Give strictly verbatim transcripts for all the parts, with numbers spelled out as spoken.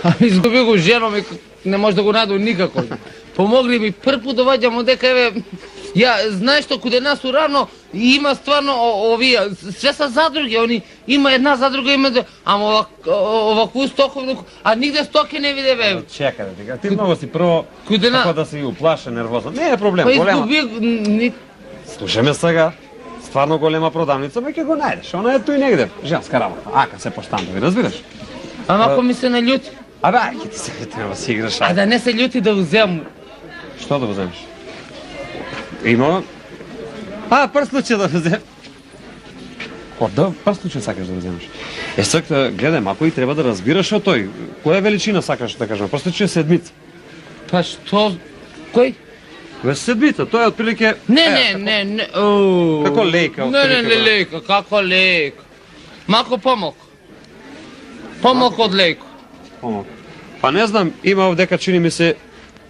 Ами изгуби го женом и не може да го најдам никако. Помогли ми прв пут доваѓам одека еве ја знаеш што каде нас урано има стварно овие све се задруги, они има една задруга има ама овакvu стоковну, а нигде стоки не виде бе. Чекај дека ти многу си прво како да си уплаша нервозно. Не е проблем, па голема. Изгуби Слушаме сега. Стварно голема продавница, ме ќе го најдеш. Она е тој негде. Женска работа. Ака се поштандови, разбираш? Ама ако ми се наљути. Абе, ајде ти се треба си играш. А да не се љути да узем. Што да воземеш? Има... А, прв случај да возем. О, да, прв случај сакаш да воземеш. Е, сак, гледај, мако и треба да разбираш од тој. Која величина сакаш да кажем? Прв случај седмица. Па што? Кој? Ве седмица, тоа е отприлike... Не, не, не, не, како лека, не, не, не, лека, како лека. Мако помок. Помок од леко. Помок. Па не знам, има овдека чини ми се,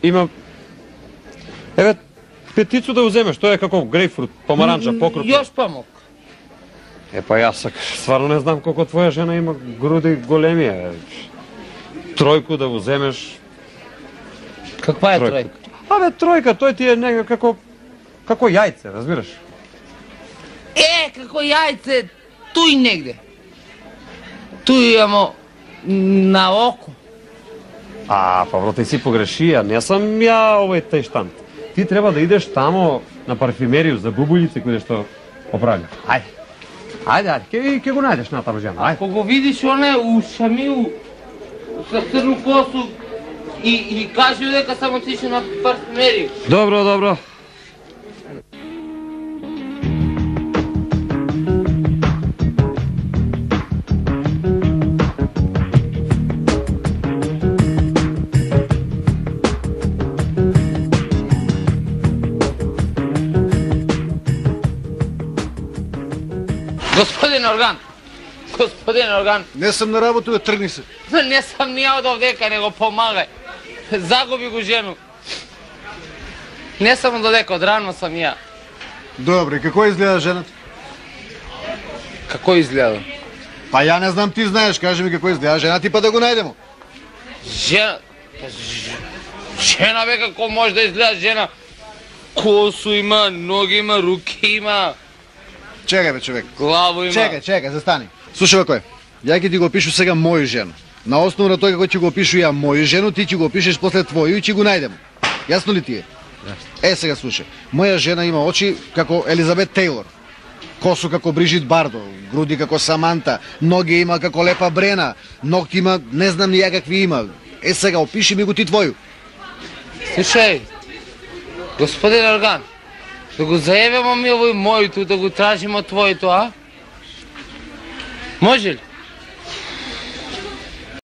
има... Еве, петицу да уземеш, тоа е како грейпфрут, помаранча, покрупна. Још помок. Е, па јас стварно не знам колко твоја жена има груди големи, е. Тројку да уземеш. Каква е тројка? Абе, тројка, тој ти е некако како... како јајце, разбираш? Е, како јајце, туј негде. Туј имамо на око. А, па бро, ти си погрешија, не сам ја овој тај штант. Ти треба да идеш тамо на парфюмерију за бубулјици кој што оправља. Ајде. Ајде, ајде, ке, ке го најдеш на таму жена, ајде. Ако го видиш оне у Шамил со црну косу и, и кажи дека сам отишел на парфюмерију. Добро, добро. Господин Орган, господин Орган. Не сум на работа, бе, тргни се. Не сам ни од овдека, него помагај. Загуби го жену. Не сам од овдека, од рано сам ја. Добре, како изгледа жената? Како изгледа? Па ја не знам, ти знаеш, кажи ми како изгледа жена ти па да го најдемо. Жена... Жена бе, како може да изгледа жена? Косу има, ноги има, руки има. Чекај бе, човек. Главо има. Чекај, чекај, застани. Слушај бе, кој? Ја ќе ти го опишу сега моју жену. На основа на тоа како ќе го опишу ја моју жену, ти ќе го опишеш после твоју и ќе го најдемо. Јасно ли ти е? Е, сега слушај. Моја жена има очи како Елизабет Тейлор. Косу како Брижит Бардо, груди како Саманта, ноги има како Лепа Брена, ногти има, не знам ни ја какви има. Е, сега опиши ми го ти твоју. Слушај, господин Орган, да го заебемо ми овој мојто, да го тражимо твоето, а? Може ли?